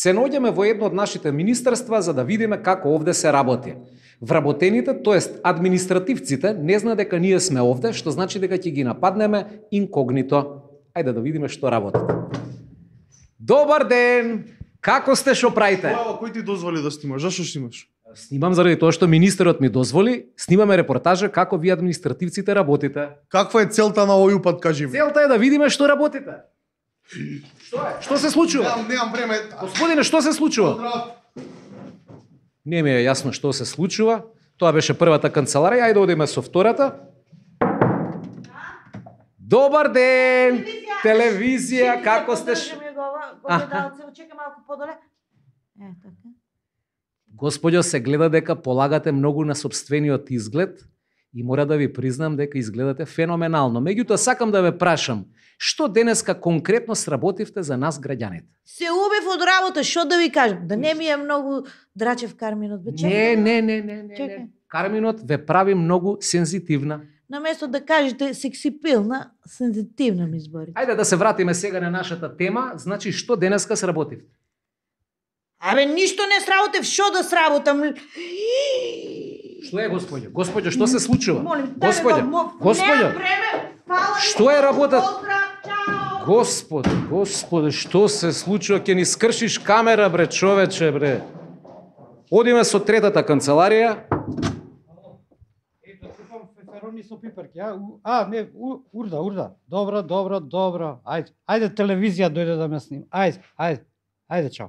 Се наоѓаме во едно од нашите министерства за да видиме како овде се работи. Вработените, тоест административците, не знаат дека ние сме овде, што значи дека ќе ги нападнеме инкогнито. Ајде да видиме што работат. Добар ден! Како сте, што правите? Кој ти дозволи да снимаш? Зашо снимаш? Снимам заради тоа што министерот ми дозволи. Снимаме репортажа како вие административците работите. Каква е целта на овој упат, кажи ми? Целта е да видиме што работите. Што е? Што се случува? Немам време. Господине, што се случува? Не ми е јасно што се случува. Тоа беше првата канцеларија, ајде одиме со втората. Добар ден! Телевизија, како сте? Чекай малку подоле. Така. Господјо, се гледа дека полагате многу на собствениот изглед и мора да ви признам дека изгледате феноменално. Меѓутоа, сакам да ве прашам, што денеска конкретно сработивте за нас граѓаните? Се убив од работа, што да ви кажам? Да не ми е многу драчев Карминот. Бе, чекай. Не. Карминот ве прави многу сензитивна. Наместо да кажете сексипилна, сензитивна ми избори. Ајде да се вратиме сега на нашата тема. Значи, што денеска сработивте? Абе, ништо не сработев, што да сработам? Што е, господјо? Господјо, што се случува? Молим, Господјо, што е работат? Господи, што се случува? Ќе ни скршиш камера, бре, човече, бре. Одиме со третата канцеларија. Ето, купам феферони со пиперки, а? Не, урда. Добро. Ајде телевизија дојде да ме сним. Ајде, чао.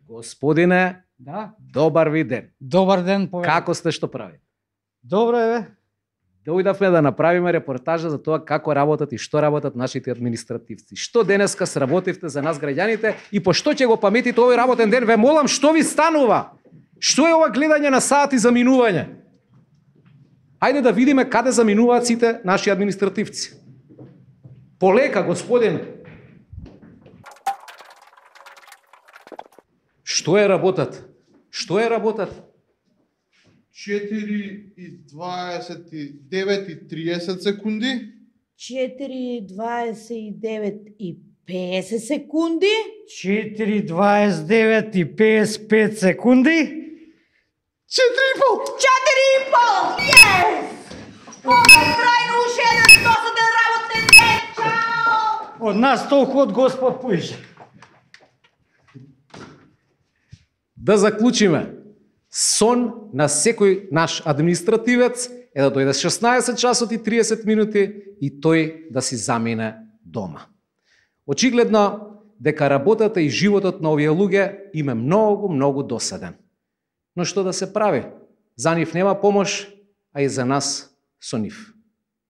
Господине, Да? добар ви ден. Добар ден, повеќе. Како сте, што правите? Добро е, бе. Дојдавме да направиме репортажа за тоа како работат и што работат нашите административци. Што денеска сработивте за нас граѓаните и по што ќе го паметите овој работен ден? Ве молам, што ви станува? Што е ова гледање на сати за минување? Ајде да видиме каде заминуваат сите наши административци. Полека, господине. Што е работат? 4:29:30 секунди. 4:29:50 секунди. 4:29:55 секунди. 4,5! 4,5! Yes! Трајно уште еден досаден работен ден! Чао! Од нас толку од Господ поише. Да заклучиме. Сон на секој наш административец е да дојде 16 часот и 30 минути и тој да си замине дома. Очигледно дека работата и животот на овие луѓе им е многу досаден. Но што да се прави? За нив нема помош, а и за нас со нив.